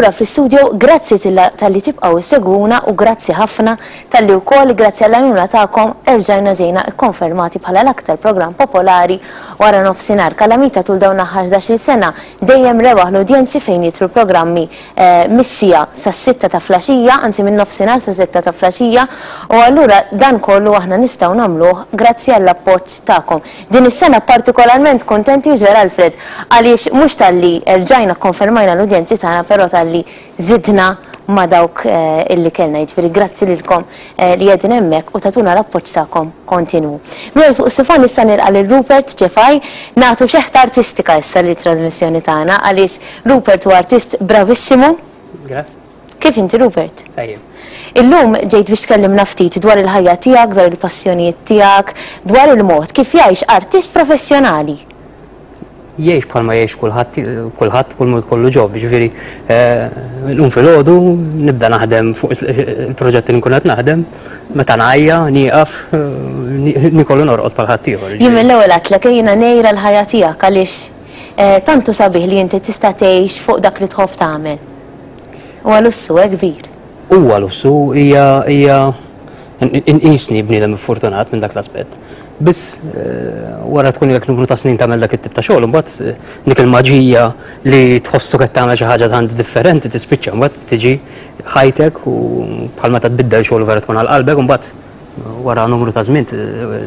lura fl-istudio, grazzi talli tibqgħu issegwuna u grazzi ħafna talli wkoll grazzi għall-għajnuna tagħkom erġajna ġejna kkonfermati bħala l-aktar programm popolari wara nofsinhar. Kalamita tul dawn l-aħħar 11-il sena dejjem rebaħ l-udjenzi fejn jidħlu programmi mis-siegħa sas-sitta ta' flaxija, anzi minn nofsinhar sas-sitta ta' flaxija, u allura dan kollu aħna nistgħu nagħmluh grazzi għall-appoġġ tagħkom. Din is-sena partikolarment kuntenti hux vera Alfred? Għaliex mhux talli erġajna kkonfermajna l-udjenzi tagħna però talli żidna ma' dawk illi kellna, jiġifieri grazzi lilkom li qegħdin hemmhekk u tagħtuna l-appoġġ tagħkom kontinwu. Miegħi fuq is-sifon issa nilqa' lil Rupert Cefai, nagħtu xeħta artistika issa lit-trasmissjoni tagħna għaliex Rupert huwa artist bravissimu. Grazzi. Kif inti Rupert? Tajjeb. Illum ġejt biex tkellimna ftit dwar il-ħajja tiegħek, dwar il-passjonijiet tiegħek, dwar il-mod kif jgħix artist professjonali. Jgħix bħalma jgħix kulħadd, kulħadd kull mod kollu ġob, jiġifieri nqum filgħodu, nibda naħdem fuq il-proġetti li nkun qed naħdem, meta ngħajja, nieqaf, niekol u norqod bħal ħaddieħor. Jien mill-ewwel għedtlek jiena ngħira l-ħajja tiegħek għaliex tant hu sabiħ li inti tista' tgħix fuq dak li tħobb tagħmel. Huwa lussu, eh, kbir. Huwa lussu, hija hija inqisni bniedem iffortunat minn dak l-aspett. Biss wara tkun ilek numru ta' snin tagħmel dak it-tip ta' xogħol, imbagħad dik il-maġija li tħossok qed tagħmel xi ħaġa tant differenti tispiċċa, imbagħad tiġi ħajtek u bħal meta tbiddel xogħol vera tkun għal qalbek, imbagħad wara numru ta' żmien,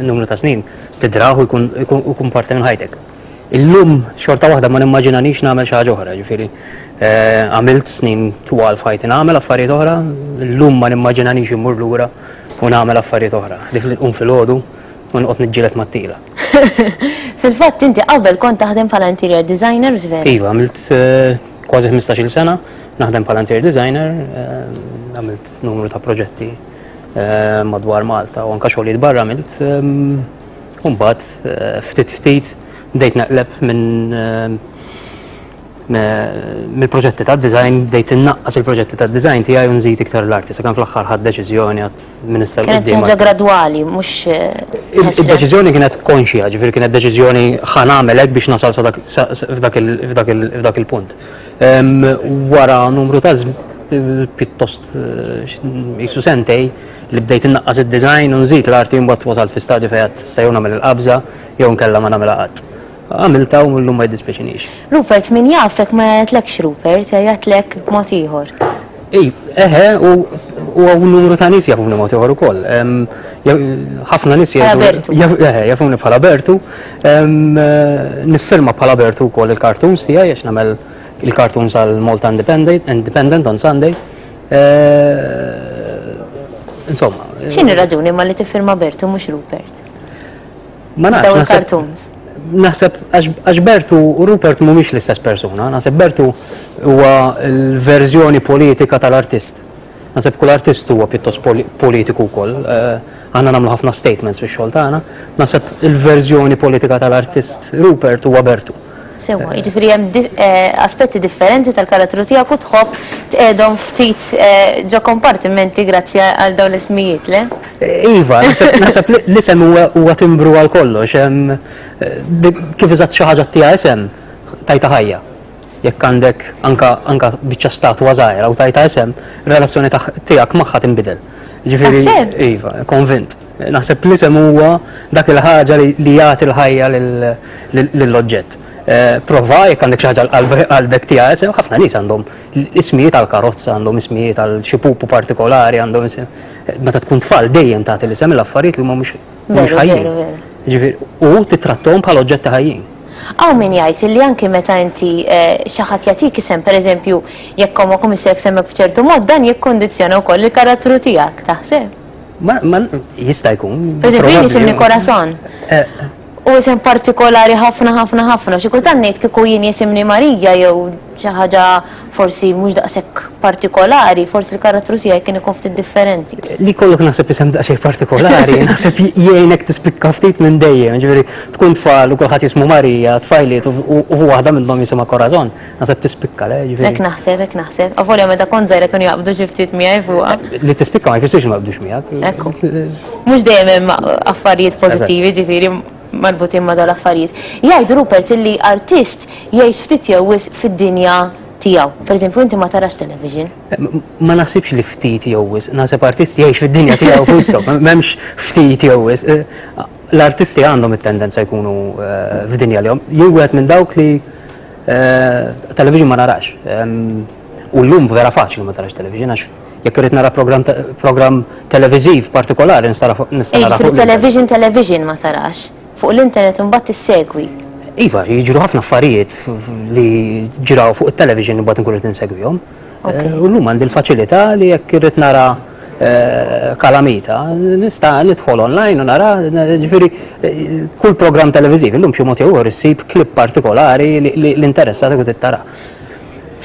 numru ta' snin tidrah u jkun jkun parti minn ħajtek. Illum xorta waħda ma nimmaġinanix nagħmel xi ħaġa oħra, ġifieri għamilt snin twal f'ħajti nagħmel affarijiet oħra, illum ma nimmaġinanix immur lura u nagħmel affarijiet oħra. Dik li nqum filgħodu u noqgħod niġġieled mat-tila. Fil-fatt inti qabel kont taħdem bħala interior designer, hux vera? Iva, għamilt kważi 15-il sena naħdem bħala interior designer, għamilt numru ta' proġetti madwar Malta u anka xogħlijiet barra għamilt. U mbagħad ftit ftit bdejt naqleb minn mill-proġetti ta' design bdejt innaqqas il-proġetti ta' design tiegħi u nżid iktar l-arti sakemm fl-aħħar ħadd deċiżjoni għad minn issa Kienet xi ħaġa gradwali, mhux Id-deċiżjoni kienet konxja, ġifieri kienet deċiżjoni ħa nagħmel hekk biex nasal f'dak il-punt. Wara numru ta' pjuttost qisu sentej li bdejt innaqqas id-design u nżid l-arti mbagħad wasalt fi stadju fejn għedt se jew nagħmel il-qabża jew inkella ma nagħmilha qatt. Għamiltha u llum ma jiddispjaċinix. Rupert, min jafek ma jgħajjatlekx Rupert, jgħajjatlek b'mod ieħor. Ej, eħe, u hawn numru ta' nies jafuni mod ieħor ukoll. Ħafna nies jgħidu. Bertu. Eħe, jafuni bħala Bertu. Niffirma bħala Bertu wkoll il-cartoons tiegħi għax nagħmel il-cartoons għal Malta Independent, Independent on Sunday. Insomma. X'inhi raġuni ma li tiffirma Bertu mhux Rupert? Ma nafx. Dawn il-cartoons. Naħseb għax Bertu u Rupert mhumiex l-istess persuna, naħseb Bertu huwa l-verżjoni politika tal-artist. Naħseb kull artist huwa pjuttost politiku wkoll. Eh, aħna nagħmlu ħafna statements fix-xogħol tagħna. Naħseb il-verżjoni politika tal-artist Rupert huwa Bertu. Sewwa, jiġifieri hemm eh, aspetti differenti tal-karattru tiegħek u tħobb tqegħdhom ftit eh, ġo kompartimenti grazzi għal dawn l-ismijiet, le? Eh, iva, naħseb l-isem huwa timbru għal kollox. Kif eżatt xi ħaġa tiegħha isem, tajta ħajja. Jekk għandek anka anka biċċa statwa żgħira u tajta isem, relazzjoni tiegħek magħha tinbidel. Ġifieri, iva, konvint. Naħseb l-isem huwa dak il-ħaġa li jagħti l-ħajja lill-oġġett. Eh, prova jekk għandek xi ħaġa qalbek tiegħek isem, ħafna nies għandhom ismijiet għal karozza, għandhom ismijiet għal xi pupu partikolari, għandhom isem. Meta tkun tfal dejjem tagħti l-isem l-affarijiet li huma mhux ħajjin. Ġifieri, u titrattom bħala oġġetti ħajjin. Hawn min jgħid li anki meta inti eh, xi ħadd jagħtik isem, pereżempju, jekk ommok u missierek semmek b'ċertu mod, dan jikkundizzjona wkoll il-karattru tiegħek, taħseb? Ma, ma, jista' jkun. Per eżempju, jien jisimni Corazon. Eh. U isem partikolari ħafna ħafna ħafna. Xi kultant ngħid kieku jien jisimni Marija jew xi ħaġa forsi mhux daqshekk partikolari, forsi l-karattru tiegħi kien ikun ftit differenti. Li kollok naħseb isem daqsxejn partikolari, naħseb jgħinek tispikka ftit minn dejjem, ġifieri tkun tfal u kulħadd jismu Marija, tfajliet u waħda minnhom jisimha Corazon. Naħseb tispikka, le? Ġifieri. Hekk naħseb, hekk naħseb. Avolja meta kont żgħira kienu jaqbdu xi ftit miegħi fuqha. Li tispikka ma jfissirx ma jaqbdux miegħek. Ekku. Mhux dejjem hemm affarijiet pożittivi, ġifieri marbutin ma' dal-affarijiet. Jgħid Rupert illi artist jgħix ftit jew wisq fid-dinja tiegħu. tiegħu. Pereżempju, inti ma tarax television. Ma naħsibx li ftit jew wisq, naħseb artist jgħix fid-dinja tiegħu full stop, m'hemmx ftit jew wisq. Eh, l-artisti għandhom it-tendenza jkunu eh, f'dinja li Jien wieħed minn dawk li eh, television ma narax. U llum vera faċli ma tarax television għax jekk irid nara programm televiżiv partikolari nista' nara fuq television television ma tarax. Fuq l-internet imbagħad issegwi. Iva, jiġru ħafna affarijiet li ġraw fuq it-television imbagħad inkun qed insegwihom. Eh, u llum għandi l-faċilità li jekk irrid nara eh, kalamita, nista' nidħol online u nara, ġifieri eh, kull programm televiżiv illum xi mod jew ieħor issib klip partikolari li l-interessatek u tittara.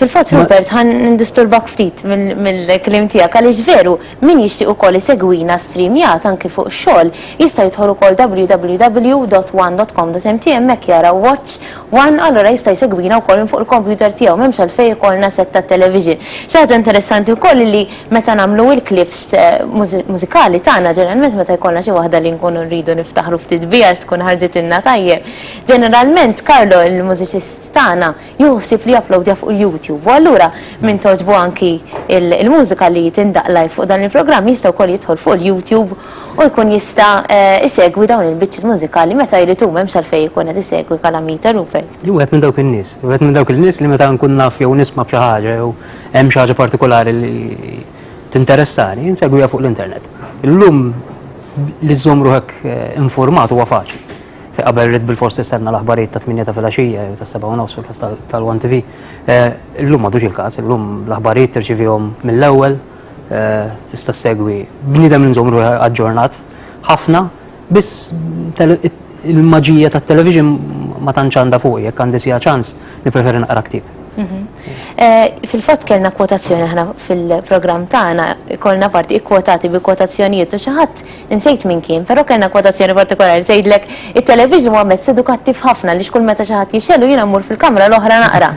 Fil-fatt Rupert ħa nindisturbak ftit mill-kliem tiegħek għaliex veru min jixtieq ukoll isegwina streamjat anki fuq xogħol jista' jidħol ukoll www.one.com.mt hemmhekk jara watch one allura jista' jsegwina wkoll minn fuq il-computer tiegħu m'hemmx għalfejn ikollna set tat-television. Xi ħaġa interessanti wkoll li meta nagħmlu il-clips mużikali tagħna ġeneralment meta jkollna xi waħda li nkunu rridu niftaħru ftit biha għax tkun ħarġitilna tajjeb. Ġeneralment Carlo il-mużiċist tagħna Jieħu ħsieb li japplowdja fuq il-YouTube u allura min togħġbu anki il-mużika li tindaqq live fuq dan il-programm jista' wkoll jidħol fuq il-YouTube u jkun jista' isegwi dawn il-biċċiet mużikali meta jrid hu m'hemmx għalfejn ikun qed isegwi Kalamita Rupert. Jien wieħed minn dawk in-nies, wieħed minn dawk il-nies li meta nkun naf jew nisma' b'xi ħaġa jew hemm xi ħaġa partikolari li tinteressani, insegwiha fuq l-internet. Illum li żżomm ruħek infurmat huwa faċli. Fejn qabel ridt bilfors tistenna l-aħbarijiet tat-tmienja ta' filgħaxija jew tas-sebgħa u nofs fil-każ tal-One TV. Illum m'għadux il-każ, illum l-aħbarijiet tirċivihom mill-ewwel, tista' ssegwi. Bniedem li nżomm ruħi aġġornat ħafna, biss il-maġija tat-television ma tantx għandha fuqi, jekk għandi siegħa ċans nippreferi naqra ktieb. Fil-fatt kellna kwotazzjoni aħna fil-programm tagħna, ikollna parti ikkwotati bi kwotazzjonijiet u xi ħadd Insejt min kien, però kellna kwotazzjoni partikolari tgħidlek it-television huwa mezz edukattiv ħafna għaliex kull meta xi ħadd jixgħelu jiena mmur fil-kamra l-oħra naqra.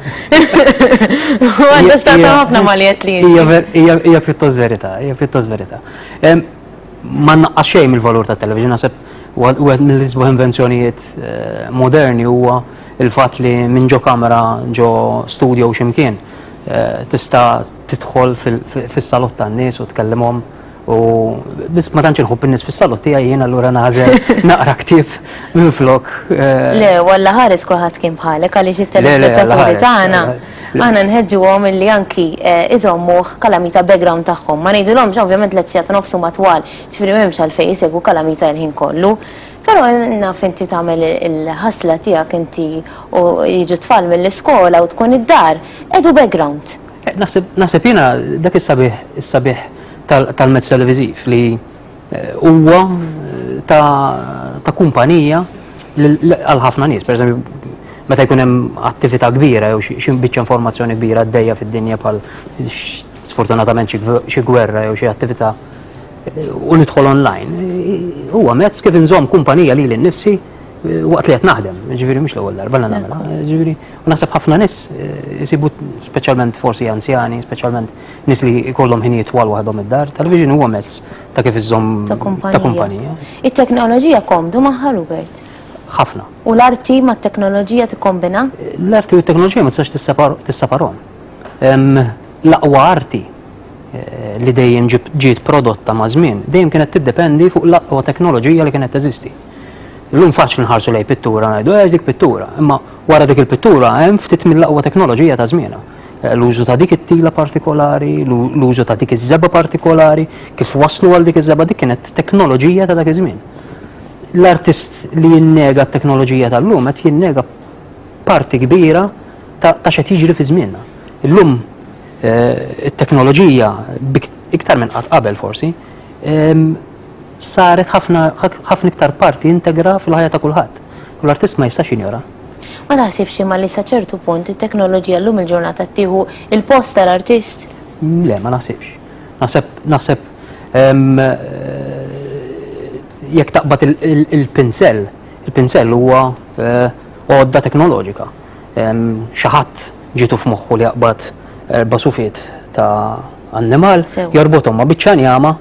U għandha x'taqsam ħafna ma' li għedt li inti. Hija pjuttost verità, hija pjuttost verità. Ma nnaqqas xejn mill-valur tat-television, naħseb wieħed mill-isbaħ invenzjonijiet eh, moderni huwa il-fatt li minn ġo kamera ġo studio x'imkien eh, tista' tidħol fis-salott tan-nies u tkellimhom U biss ma tantx inħobb in-nies fis-salott tiegħi jien allura nagħżel naqra ktieb minflok. Eh, Le, walla ħares kulħadd kien bħalek għaliex it-telespettaturi tagħna aħna nħeġġuhom illi anki eh, iżommuh kalamita background tagħhom. Ma ngħidulhomx ovvjament lezzjat nofsu matwal, ġifieri m'hemmx għalfejn isegwu kalamita l-ħin kollu. Però naf inti tagħmel il-ħasla tiegħek inti u jiġu tfal mill-iskola u tkun id-dar, edu background. Eh, naħseb jiena dak is-sabiħ is-sabiħ tal-mezz televiżiv li eh, huwa eh, ta' kumpanija għal ħafna nies. Per eżempju, meta jkun hemm attività kbira jew xi biċċa informazzjoni kbira għaddejja fid-dinja bħal sfortunatament xi gwerra jew xi attività eh, u nidħol online, huwa mezz kif inżomm kumpanija lili nnifsi waqt li qed naħdem, ġifieri mhux l-ewwel darba li nagħmilha, ġifieri u naħseb ħafna nies isibu speċjalment forsi anzjani, speċjalment Nies li jkollhom ħinijiet twal waħedhom id-dar, television huwa mezz ta' kif iżżomm ta' kumpanija. It-teknoloġija komdu magħha, Rupert? Ħafna. U l-arti mat-teknoloġija tikkombina? L-arti u t-teknoloġija ma tistax tisseparhom. L-aqwa arti eh, li dejjem ġiet prodotta ma' żmien, dejjem kienet tiddependi fuq l-aqwa teknoloġija li kienet teżisti. Illum faċli nħarsu lej pittura ngħidu eh dik pittura, imma wara dik il-pittura hemm ftit mill-aqwa teknoloġija ta' żmienha. L-użu ta' dik it-tila partikolari, l-użu ta' dik iż-żebgħa partikolari, kif waslu għal dik iż-żebgħa, dik kienet teknoloġija ta' dak iż-żmien. L-artist li jinnega t-teknoloġija tal-lum qed jinnega parti kbira ta' x'qed jiġri fi żmienna. Illum eh, it-teknoloġija iktar minn qatt qabel forsi, ehm, saret ħafna ħafna iktar parti integra fil-ħajja ta' kulħadd. U l-artist ma jistax jinjora. Ma taħsibx imma li sa ċertu punt it-teknoloġija llum il-ġurnata tieħu il-post tal-artist? Le, ma naħsibx. Naħseb, naħseb ehm, jekk taqbad il-pinzell, il-pinzell huwa eh, għodda teknoloġika. Ehm, xi ħadd ġietu f'moħħu li jaqbad erba' sufiet ta' annimal, jorbothom ma' biċċa njama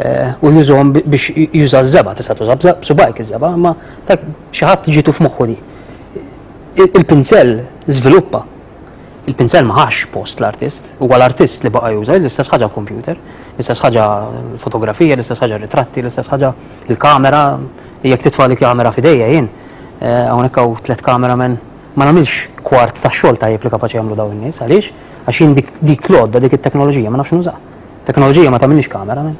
eh, u jużhom biex juża ż-żebgħa, tista' tuża b'subajk iż-żebgħa, imma xi ħadd ġietu f'moħħu di. Il-pinsell żviluppa. Il-pinsel ma ħax post l-artist, huwa l-artist li baqa' juża l-istess ħaġa l-computer, l-istess ħaġa l-fotografija, l-istess ħaġa r-ritratti, l-istess ħaġa l-kamera, jekk titfa' li kamera f'idejja jien, eh, hawnhekk hawn tliet cameramen ma nagħmilx kwart tax-xogħol tajjeb li kapaċi jagħmlu dawn in-nies, għaliex? Għax jien dik dik l-għodda, dik it-teknoloġija ma nafx nużaha. Teknoloġija ma tagħmilniex cameraman.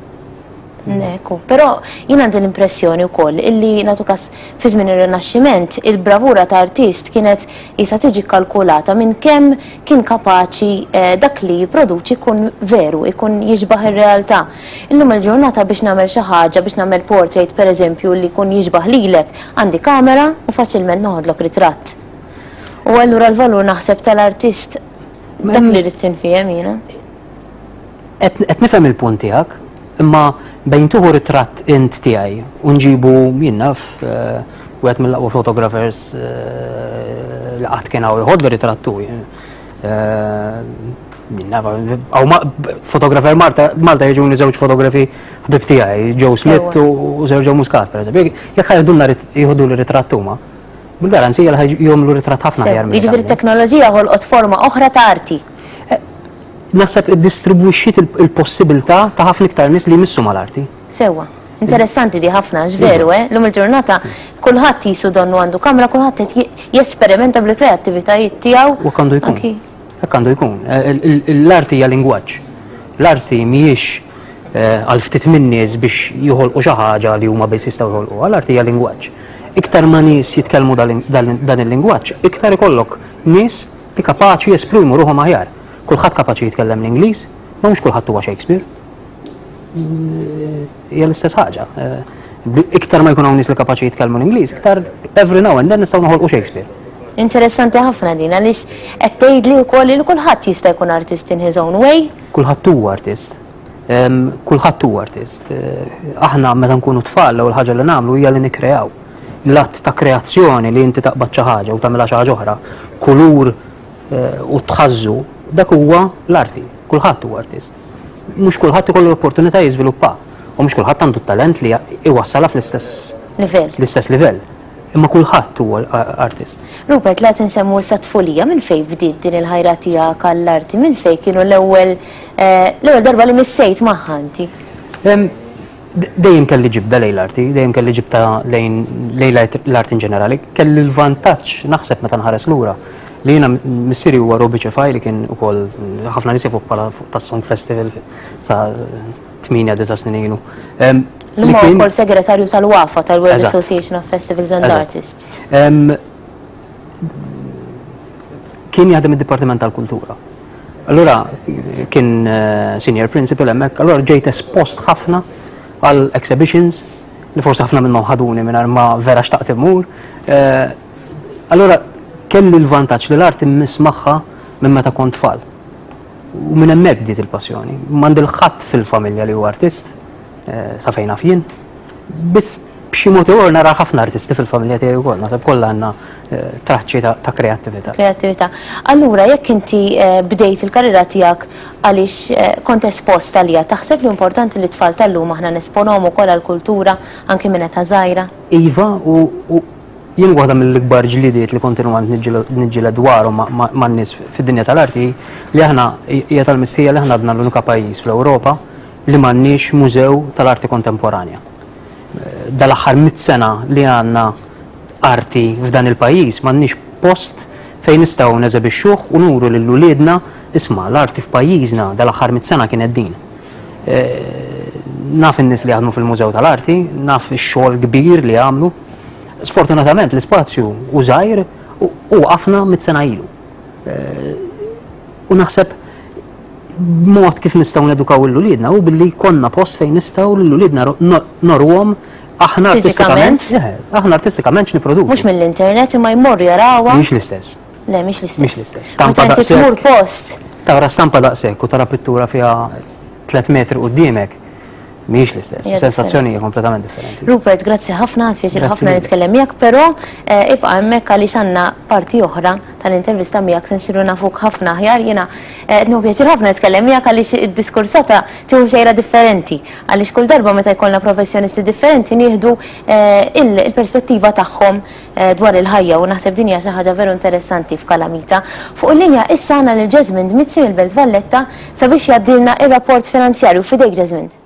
Ekku, però jien għandi l-impressjoni wkoll illi nagħtu każ fi żmien ir-Rinaxximent il-bravura ta' artist kienet qisha tiġi kkalkulata minn kemm kien kapaċi eh, dak li jipproduċi jkun veru, ikun jixbaħ ir-realtà. Illum il-ġurnata biex nagħmel xi ħaġa, biex nagħmel portrait pereżempju li jkun jixbaħ lilek, għandi kamera u faċilment noħodlok ritratt. U allura l-valur naħseb tal-artist dak li rrid tinfiehem jiena. Qed nifhem il-punt tiegħek, imma bejn tuħu ritratt int tiegħi u nġibu jien naf eh, wieħed mill-aqwa photographers eh, li qatt kien hawn jħodlu ritratt hu. Eh, jien naf, fotografer Malta Malta jiġuni żewġ fotografi ħbib tiegħi, Joe Smith u Sergio Muscat, pereżempju. Jekk ħajdulna jieħdu ritratt huma, bil-garanzija li jagħmlu ritratt ħafna aħjar. Jiġifieri t-teknoloġija ħolqot forma oħra ta' arti. Naħseb iddistribwixxiet il-possibilità ta' ħafna iktar nies li jmissu mal-arti. Sewwa. Interessanti di ħafna, għax veru, eh? Lum il-ġurnata kulħadd jisu donnu għandu kamra, kulħadd qed jesperimenta bil-kreattivitajiet tiegħu. U għandu jkun. Hekk għandu jkun. L-arti hija lingwaġġ. L-arti mhijiex eh, għal ftit min-nies biex joħolqu xi ħaġa li huma biss jistgħu joħolquha, l-arti hija lingwaġġ. Iktar ma nies jitkellmu dan il-lingwaġġ, iktar ikollok nies li kapaċi jesprimu ruħhom aħjar. Kulħadd kapaċi jitkellem l-Ingliż, ma mhux kulħadd huwa Shakespeare. Hija l-istess ħaġa. Eh, iktar ma jkun hawn nies li kapaċi jitkellmu l-Ingliż, iktar every now and then nistgħu noħolqu Shakespeare. Interessanti ħafna din għaliex qed tgħidli wkoll li kulħadd jista' jkun artist in his own way. Kulħadd huwa artist. Kulħadd huwa artist. Eh, aħna meta nkunu tfal l-ewwel ħaġa li nagħmlu hija li nikkreaw. L-att ta' kreazzjoni li inti taqbad xi ħaġa u tagħmilha xi ħaġa oħra, kulur eh, u tħażżu, dak huwa l-arti. Kulħadd huwa artist. Mhux kulħadd ikollu l-opportunità jiżviluppa u mhux kulħadd għandu t-talent li iwassalha fl-istess livell. L-istess livell. Imma kulħadd huwa artist. Rupert, la tinsemmu issa tfulija, minn fejn bdiet din il-ħajra tiegħek għall-arti? Minn fejn kienu l-ewwel eh, l-ewwel darba li missejt magħha inti? Dejjem kelli ġibda lejn l-arti, dejjem kelli ġibda lejn l-arti in ġenerali. Kelli l-vantaġġ naħseb meta nħares lura li jiena missieri huwa Robi Ċefaj li kien ukoll ħafna nies jafuh bħala tas-Song Festival sa 8 disa' snin ilu. Li huwa wkoll segretarju tal-WAFA tal-World Association of Festivals and Artists. Kien jaħdem id-Dipartiment tal-Kultura. Allura kien eh, senior principal hemmhekk, allura ġejt espost ħafna għal exhibitions li forsi ħafna minnhom ħaduni mingħajr ma vera xtaqt immur. Eh, allura kelli l-vantaġġ li l-arti mmiss magħha minn meta kont tfal. U minn hemmhekk bdiet il-passjoni. M'għandi l-ħadd fil-familja li huwa artist, eh, sa fejn naf jien. Biss b'xi mod ieħor nara ħafna artisti fil-familja tiegħi wkoll, naħseb kollha għandna eh, traċċi ta' kreattività. Kreattività. Allura jekk inti eh, bdejt il-karriera tiegħek għaliex eh, kont espost għalija, taħseb li importanti li tfal tal-lum aħna nesponuhom ukoll għall-kultura anki minn età żgħira? Iva, u jien waħda mill-ikbar ġlidiet li kontinwament niġġieled dwarhom man-nies fid-dinja tal-arti li aħna hija tal-mistħija li aħna għadna l-unika pajjiż fl-Ewropa li m'għandniex mużew tal-arti kontemporanja. Dal-aħħar mit sena li għandna arti f'dan il-pajjiż m'għandniex post fejn nistgħu neżebixxuh u nuru lil uliedna isma' l-arti f'pajjiżna dal-aħħar mit sena kienet din. Naf in-nies li jaħdmu fil-Mużew tal-Arti, naf ix-xogħol kbir li għamlu. Sfortunatament l-ispazju hu żgħir u waqafna mit sena ilu. U naħseb mod kif nistgħu nedukaw lil uliedna hu billi jkollna post fejn nistgħu lil uliedna noruhom aħna artistikament. Aħna artistikament x'nipproduċu. Mhux mill-internet imma jmorru jarawha. Mhix l-istess. Le, mhix l-istess. Mhix l-istess. Stampa daqshekk. Tmur post. Tara stampa daqshekk u tara pittura fiha 3 metri quddiemek. Mhijiex l-istess, sensazzjoni hija kompletament differenti. Rupert, grazzi ħafna, għad pjaċir ħafna nitkellem miegħek, però eh, ibqa' hemmhekk għaliex għandna parti oħra tal-intervista miegħek se nsiru nafuk ħafna aħjar. Jiena eh, qed nieħu pjaċir ħafna nitkellem miegħek għaliex id-diskursata tieħu xejra differenti għaliex kull darba meta jkollna professjonisti differenti nieħdu eh, il-perspettiva tagħhom eh, dwar il-ħajja u naħseb din hija xi ħaġa veru interessanti f'Kalamita. Fuq il-linja issa għandna lil Jesmond Mizzi mill-Belt Valletta sabiex jgħaddilna ir-rapport finanzjarju f'idejk Jesmond.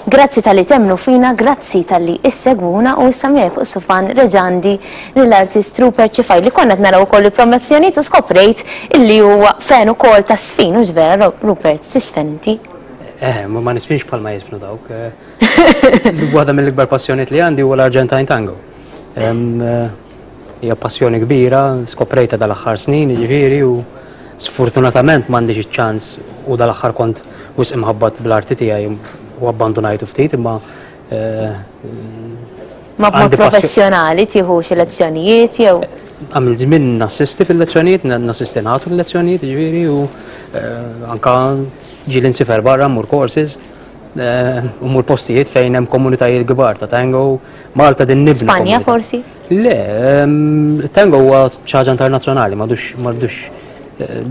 Grazzi talli temmnu fina, grazzi talli issegwuna u issa miegħi fuq is-sufan reġa' għandi lill-artist Rupert Cifai li konna qed naraw ukoll il-promozzjonijiet u skoprejt illi huwa fan ukoll ta' sfin, hux vera Rupert, tisfen inti? Eh, ma nisfinx bħalma jisfnu dawk. Eh. Waħda mill-ikbar passjonijiet li għandi huwa l-Argentine Tango. Eh, hija passjoni kbira, skoprejta dal-aħħar snin, jiġifieri, u sfortunatament m'għandix iċ-ċans u dal-aħħar kont wisq imħabbat bl-arti tiegħi u abbandunajtu ftit, imma eh, Ma b'mod professjonali tieħu xi lezzjonijiet jew? Għamil żmien nassisti fil-lezzjonijiet, nassisti nagħtu l-lezzjonijiet, jiġifieri, u eh, anka ġieli nsifer barra mmur courses. Eh, u mur postijiet fejn hemm komunitajiet kbar ta' tango, Malta din nibnu. Spanja forsi? Le, ehm, tango huwa xi ħaġa internazzjonali, m'għadux m'għadux eh,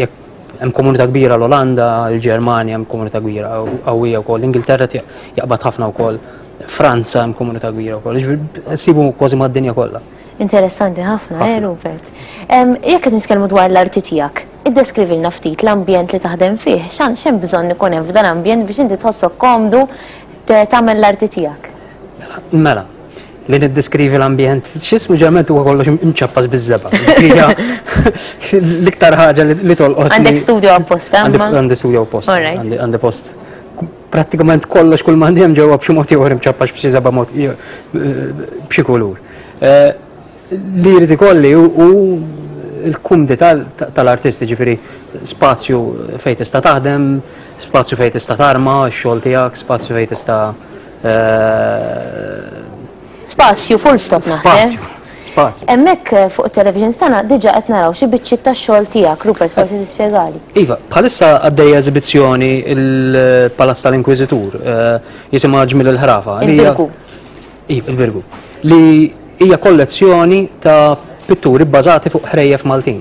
jekk hemm komunità kbira l-Olanda, l-Ġermanja hemm komunità kbira qawwija wkoll, l-Ingilterra jaqbad ħafna wkoll, Franza hemm komunità kbira wkoll, sibu kważi mad-dinja kollha. Interessanti ħafna, eh, Rupert. Jekk qed nitkellmu dwar l-arti tiegħek, iddeskrivilna ftit l-ambjent li taħdem fih, x'hemm bżonn ikun hemm f'dan ambjent biex inti tħossok komdu tagħmel l-arti tiegħek? Mela, li niddeskrivi l-ambjent, x'ismu ġerment huwa kollox imċappas biż-żebgħa. L-iktar ħaġa li tolqot. Għandek studio apposta? Għandi studio apposta. Għandi post prattikament kollox kull m'għandi hemm ġewwa b'xi mod ieħor imċappax b'xi żebgħa mod b'xi kulur. Eh, li jrid ikolli hu l-kumdità tal-artisti, ġifieri spazju fejn tista' taħdem, spazju fejn tista' tarma x-xogħol tiegħek, spazju fejn tista' eh, Spazju, full stop naħseb. Spazju. Spazju. Hemmhekk eh, fuq it-television tagħna diġà qed naraw xi biċċiet tax-xogħol tiegħek, Rupert, forsi tispjegali. Iva, bħalissa għaddejja eżibizzjoni il-Palazz tal-Inkwiżitur, jisimha Ġmiel il-Ħrafa. Il-Birgu. Iva, il-Birgu. Li hija kollezzjoni ta' pitturi bbażati fuq ħrejjef Maltin.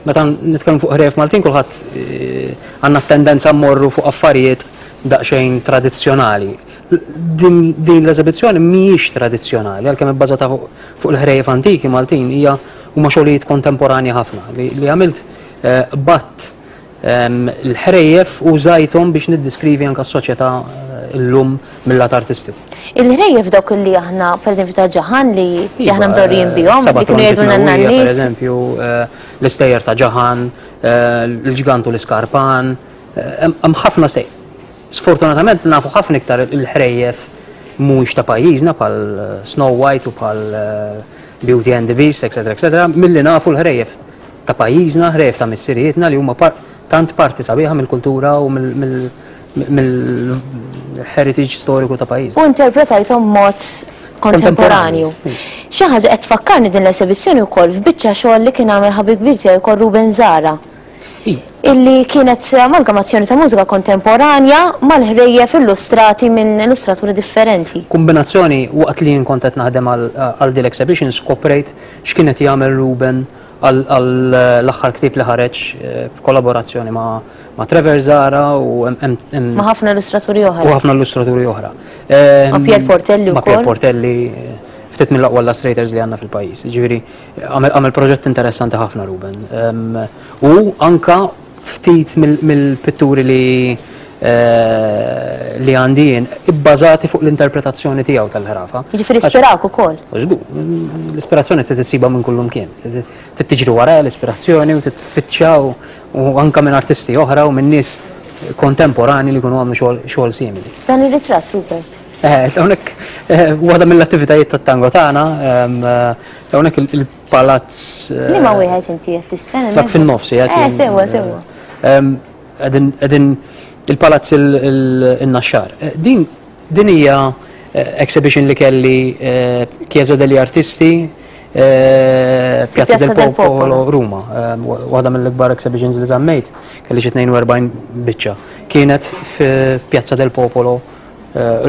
Meta nitkellmu fuq ħrejjef Maltin kulħadd eh, għandna tendenza mmorru fuq affarijiet daqsxejn tradizzjonali. Din, din l-eżibizzjoni mhijiex tradizzjonali, għalkemm ibbażata fuq il-ħrejjef antiki Maltin hija huma xogħlijiet kontemporanja ħafna li, li għamilt eh, batt L-ħrejjef użajthom biex niddiskrivi anke s-soċjetà llum mil-lat artistiku. Il-ħrejjef dawk li aħna, pereżempju ta' Ġaħan li aħna mdorrijin bihom, li kienu jgħidulna n-nanniet. Pereżempju, l-istejjer ta' Ġaħan, l-ġgant u l-iskarpan, hemm ħafna sej. Sfortunatament nafu ħafna iktar il-ħrejjef mhuwiex ta' pajjiżna bħal Snow White u bħal Beauty and the Beast, eċetera, eċetera, milli nafu l-ħrejjef ta' pajjiżna, ħrejjef ta' missirijietna li huma tant parti sabiħa mill-kultura u mill-heritage storiku ta' pajjiżna. U interpretajthom mod kontemporanju. Xi ħaġa qed tfakkarni din l-esebizzjoni wkoll f'biċċa xogħol li kien għamel ħabib kbir tiegħi wkoll Ruben Zara. Illi kienet amalgamazzjoni ta' mużika kontemporanja mal-ħrejjef illustrati minn illustraturi differenti. Kombinazzjoni waqt li jien kont qed naħdem għal din l-exhibition skoprejt x'kien qed jagħmel Ruben għall-aħħar ktieb li ħareġ eh, f'kollaborazzjoni ma' Trevor Zara u ma' ħafna illustraturi oħra. U ħafna illustraturi oħra. Ma' Pier Portelli Ma' Pier Portelli, eh, ftit mill-aqwa illustrators li għandna fil-pajjiż. Ġifieri għamel proġett interessanti ħafna Ruben. Ehm, u anka ftit mill-pitturi li eh, li għandi jien ibbażati fuq l-interpretazzjoni tiegħu tal-ħrafa. Jiġifieri ispirak ukoll. Żgur, l-ispirazzjoni trid issibha minn kullum kien. Trid tiġri wara l-ispirazzjoni u titfittxa u anka minn artisti oħra u minn nies kontemporani li jkunu għamlu xogħol simili. Dan ir-ritratt, Rupert. Eh, hawnhekk eh, waħda mill-attivitajiet tat-tango tagħna, ehm, hawnhekk il-palazz. Liema wieħed inti qed tistenna? Dak fin-nofs qiegħed. Eh, sewwa, sewwa. Ehm, Qegħdin il-Palazz il-Naxxar. Eh, din din hija eh, exhibition li kelli eh, Chiesa degli Artisti Piazza del Popolo Ruma. Waħda mill-ikbar exhibitions li żammejt, kelli xi 42 biċċa. Kienet fi Piazza del Popolo.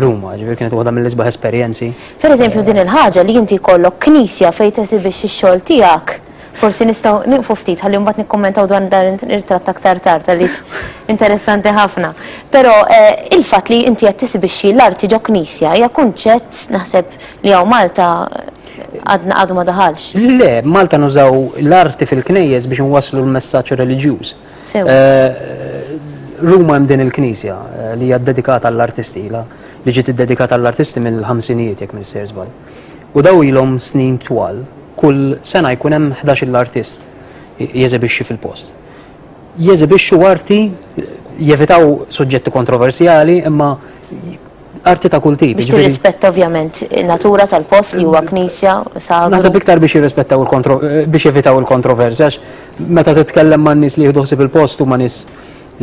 Ruma, ġifieri kienet waħda mill-isbaħ esperjenzi. Per eżempju din il-ħaġa li inti jkollok knisja fejn tesibixxi x-xogħol tiegħek, forsi nistgħu nieqfu ftit ħalli mbagħad nikkummentaw dwar dan ir-ritratt aktar tard għaliex interessanti ħafna. Però il-fatt li inti qed tesibixxi l-arti ġo knisja hija kunċett naħseb li hawn Malta għadna għadu ma daħalx. Le, Malta nużaw l-arti fil-knejjes biex nwasslu l-messaġġ reliġjuż. Ruma hemm din il-knisja li hija ddedikata għall-artisti ilha li ġiet iddedikata għall-artisti mill-ħamsinijiet jekk m'iniex sejjer żball. U daw ilhom snin twal, kull sena jkun hemm 11-il artist jeżebixxi fil-post. Jeżebixxu arti, jevitaw suġġetti kontroversjali, imma arti ta' kull tip. Biex tirrispetta ovvjament natura tal-post li huwa knisja, sagru. Naħseb iktar biex jirrispettaw il-kontro biex jevitaw il-kontroversja għax meta titkellem ma' nies li jieħdu ħsieb il-post huma nies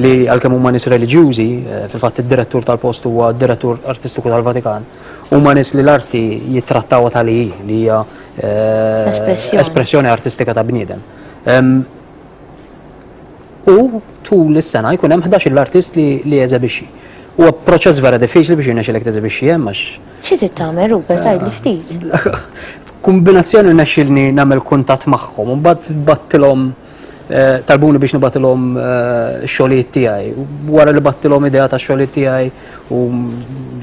li għalkemm huma nies reliġjużi, eh, fil-fatt id-direttur tal-post huwa d-direttur artistiku tal-Vatikan, huma nies li l-arti jittrattawha tal hi li hija eh, espressjoni artistika ta' bniedem. U tul is-sena jkun hemm 11-il artist li li jeżebixxi. Huwa proċess vera diffiċli biex jirnexxilek teżebixxi hemm għax. Xi trid tagħmel Rupert tgħidli ftit. Kombinazzjoni rnexxilni nagħmel kuntatt magħhom u mbagħad battilhom eh, talbuni biex nibatilhom eh, x-xogħlijiet tiegħi. Wara li battilhom idea ta' xogħlijiet tiegħi u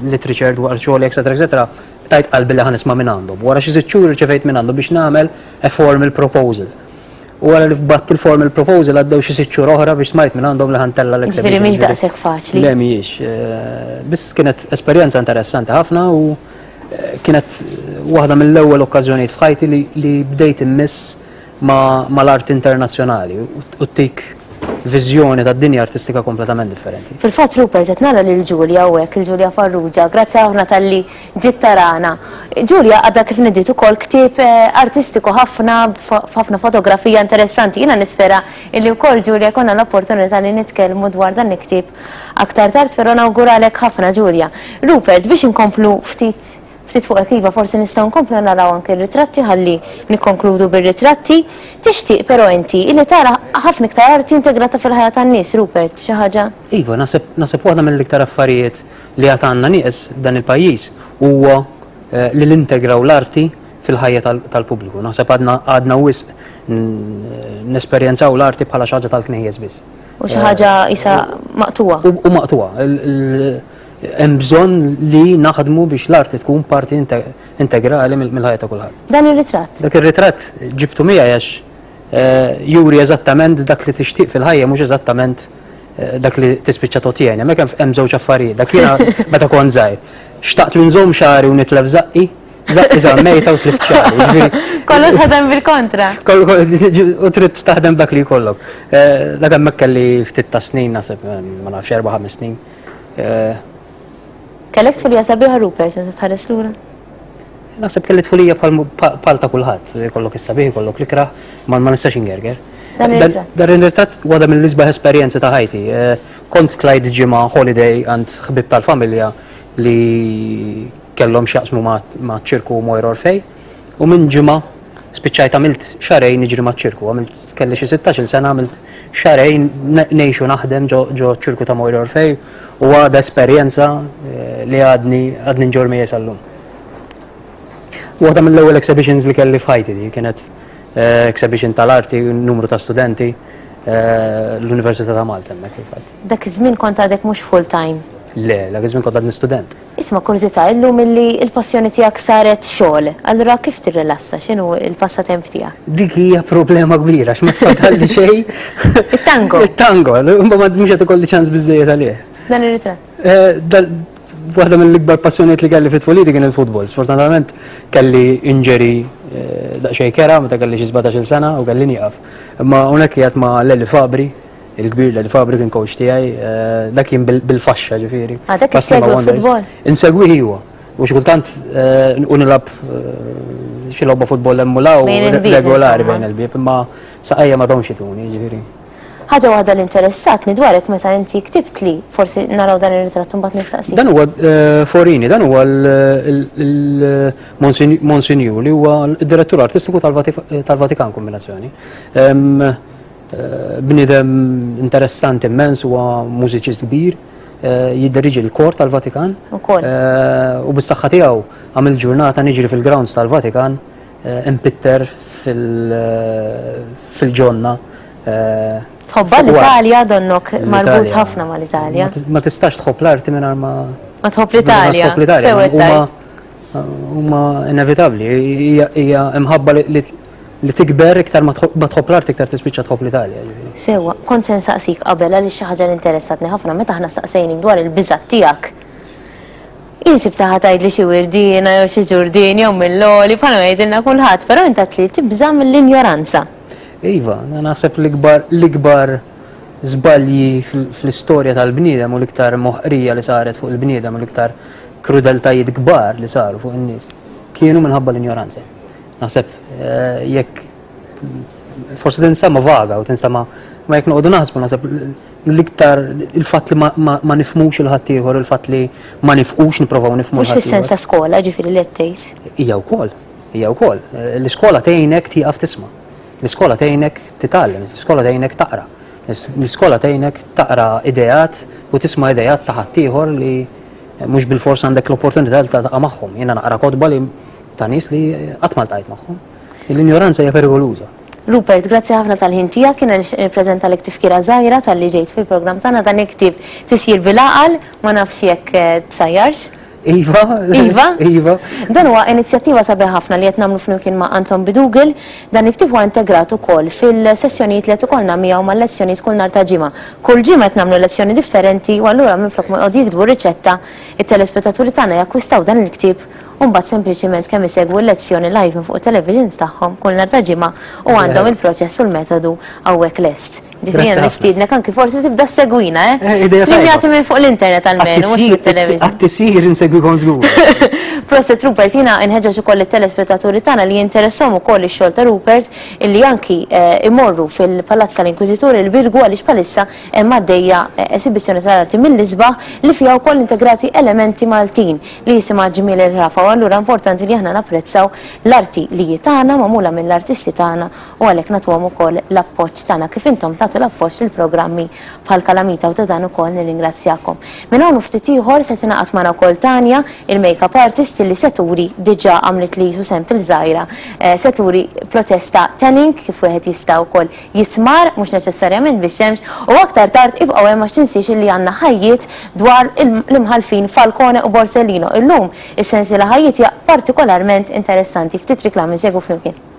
literature dwar xogħli, eċetera, eċetera, tajt qalbi li ħanisma' minn għandhom. Wara xi sitt xhur irċevejt minn għandhom biex nagħmel a formal proposal. U wara li bgħatt il-formal proposal għaddew xi sitt xhur oħra biex smajt minn għandhom li ħa ntella' l-exhibition. Ġifieri mhix daqshekk faċli. Le mhijiex. Biss kienet esperjenza interessanti ħafna u kienet waħda mill-ewwel okkażjonijiet f'ħajti li bdejt immiss mal-art internazzjonali u ttik viżjoni tad-dinja artistika kompletament differenti. Fil-fatt Rupert qed nara lil Julia hawnhekk, il Julia Farrugia, grazzi ħafna talli ġiet tarana. Julia għadha kif nediet ukoll ktieb artistiku ħafna b'ħafna fotografija interessanti. Jiena nispera illi wkoll Julia jkollna l-opportunità li nitkellmu dwar dan il-ktieb aktar tard, però nawguralek ħafna Julia. Rupert, biex inkomplu ftit ftit fuqek iva forsi nistgħu nkomplu naraw anke r-ritratti ħalli nikkonkludu bir-ritratti. Tixtieq però inti illi tara ħafna iktar arti integrata fil-ħajja tan-nies, Rupert, xi ħaġa? Iva, naħseb naħseb waħda mill-iktar affarijiet li għad għandna nieqes f'dan il-pajjiż huwa li nintegraw l-arti fil-ħajja tal-pubbliku. Naħseb għadna għadna wisq nesperjenzaw l-arti bħala xi ħaġa tal-knejjes biss. U xi ħaġa isa maqtugħa. U maqtugħa. Hemm bżonn li naħdmu biex l-arti tkun parti integrali mill-ħajja ta' kulħadd. Dan ir-ritratt? Dak ir-ritratt ġibtu miegħi għax juri eżattament dak li tixtieq fil-ħajja mhux eżattament dak li tispiċċa totjeni. Hemmhekk hemm żewġ affarijiet. Dak jiena meta kont żgħir. Xtaqt li nżomm xagħri u nitlef żaqqi, żaqqi żammejta u tlift xagħri. Kollu taħdem bil-kontra. U trid taħdem dak li jkollok. Dak hemmhekk kelli ftit ta' snin naħseb ma nafx erba' ħames snin. Kellek tfulija sabiħa Rupert meta tħares lura? Naħseb kelli tfulija bħal ta' kulħadd, kollok is-sabiħ, kollok l-ikrah, ma nistax ingerger. Dan ir-ritratt waħda mill-isbaħ esperjenzi ta' ħajti. Eh, kont tlajt ġimgħa holiday għand ħbib tal-familja li kellhom x'jaqsmu ma' ċirku Moira Orfej u minn ġimgħa spiċċajt għamilt xarejn niġri ma' ċirku, għamilt kelli xi 16-il sena għamilt xarejn ngħix u naħdem ġo ċirku ta' Moira Orfej u għadha esperjenza eh, li għadni għadni nġor miegħi sal-lum. Waħda mill-ewwel exhibitions li kelli f'ħajti di kienet eh, exhibition tal-arti, numru ta' studenti eh, l-Università ta' Malta hemmhekk fil-fatt. Dak iż-żmien kont għadek mhux full time. Le, dak iż-żmien kont għadni student. Isma' kurżità, illum illi l-passjoni tiegħek saret xogħol, allura kif tirrilassa? X'inhu l-passatemp tiegħek? Dik hija problema kbira għax ma tfadalli xejn. It-tango. It-tango, imma mhux qed ikolli ċans biżejjed għalih. Dan ir-ritratt. Eh, Waħda mill-ikbar passjonijiet li kelli fit-tfuliti kien il-futbol. Sfortunatament kelli injury eh, daqsxejn kera meta kelli xi 17-il sena u kelli nieqaf. Imma hawnhekk qiegħed ma' Leli Fabri, il-kbir Leli Fabri kien coach tiegħi, eh, dak kien bil-faxxa ġifieri. Għadek issegwi l-futbol? Insegwih iwa. U xi kultant eh, u nilgħab xi logħba futbol hemm u law regolari bejn il-bieb, imma saqajja ma domx ituni, ġifieri. Ħaġa waħda li interessatni dwarek meta inti ktibtli, forsi naraw dan ir-ritratt u mbagħad nistaqsik. Dan huwa Forini, dan huwa l-Monsinjur li huwa d-direttur artistiku tal-Vatikan kombinazzjoni. Bniedem interessanti immens, huwa mużiċist kbir. Jidderieġi l-kor tal-Vatikan. Ukoll. U bis-saħħa tiegħu għamilt ġurnata niġri fil-grounds tal-Vatikan impitter fil-ġonna. Tħobbha l-Italja donnok marbut ħafna mal-Italja. Ma tistax tħobb l-arti mingħajr ma. Ma tħobb l-Italja. Ma tħobb l-Italja. Huma inevitabbli. Hija imħabba li Li tikber iktar ma tħobb l-art iktar tispiċċa tħobb l-Italja, jiġifieri. Sewwa, kont se nsaqsik qabel għaliex xi ħaġa li interessatni ħafna meta aħna staqsejnik dwar il-biżgħat tiegħek. Jien sibtha ħa tgħidli xi wirdiena jew xi ġurdien jew mill-għoli bħalma jgħidilna kulħadd, però int għedt li tibża' mill-injoranza. Iva, naħseb l-ikbar l-ikbar żbalji fl-istorja tal-bniedem u l-iktar moħqrija li saret fuq il-bniedem u l-iktar krudeltajiet kbar li saru fuq in-nies kienu minħabba l-injoranza. Naħseb eh, jekk forsi tinstama vaga u tinstama ma jekk noqogħdu naħsbu naħseb l-iktar il-fatt li ma nifmux il-ħaddieħor, il-fatt li ma nifqux nipprovaw nifmu. Mhux fis-sens ta' skola, ġifieri li qed tgħid. Hija wkoll, hija wkoll. L-iskola tgħinek tieqaf tisma'. L-iskola tgħinek titgħallem, l-iskola tgħinek taqra. L-iskola tgħinek taqra ideat u tisma' ideat ta' ħaddieħor li mhux bilfors għandek l-opportunità li tiltaqa' magħhom. Jiena naqra kotba li ta' nies li qatt ma ltqajt magħhom. L-injoranza hija perikoluża. Rupert, grazzi ħafna tal-ħin tiegħek, jiena nixtieq nippreżentalek tifkira żgħira talli ġejt fil-programm tagħna dan il-ktieb Tisjir bil-Għaqal, ma nafx jekk tsajjarx. Iva. Iva? Iva. Dan huwa inizjattiva sabiħa ħafna li qed nagħmlu flimkien ma' Anton Bidugel. Dan il-ktieb huwa integrat ukoll fil-sessjonijiet li qed ikollna miegħu mal-lezzjonijiet kull nhar ta' Ġimgħa. Kull ġimgħa qed nagħmlu lezzjoni differenti u allura minflok ma joqogħdu jiktbu riċetta, it-telespettaturi tagħna jakkwistaw dan il-ktieb u mbagħad sempliċiment kemm isegwu l-lezzjoni live minn fuq it-televisions tagħhom kull nhar ta' Ġimgħa u għandhom il-proċess u l-metodu hawnhekk lest. Ġifieri jiena nistiednek anki forsi tibda ssegwina, eh? eh idea Streamjati minn fuq l-internet almenu, mhux mit-television. Għat-tisjir insegwikom żgur. Proset Rupert, jiena nħeġġeġ ukoll it-telespettaturi tagħna li jinteressahom ukoll ix-xogħol ta' Rupert illi anki eh, imorru fil-Palazz tal-Inkwiżitur il-Birgu għaliex bħalissa hemm għaddejja eh, esibizzjoni tal-arti mill-isbaħ li fiha wkoll integrati elementi Maltin. li jisimha Ġmiel il-Ħrafa u allura importanti li aħna napprezzaw l-arti li hi tagħna, magħmula mill-artisti tagħna u għalhekk nagħtuhom ukoll l-appoġġ tagħna kif intom tagħtu l-appoġġ lil programmi bħal Kalamita u ta' dan ukoll nirringrazzjakom. Minn hawn u ftit ieħor se tingħaqad magħna wkoll Tania, il-make-up artist li se turi diġà għamlitli qisu sample żgħira, se turi proċess ta' tanning kif wieħed jista' wkoll jismar, mhux neċessarjament bix-xemx, u aktar tard ibqgħu hemm għax tinsiex illi għandna ħajjiet dwar l-imħallfin Falcone u Borsellino. Illum is-sensiela ħajjiet hija partikolarment interessanti. Ftit riklami nsegwu flimkien.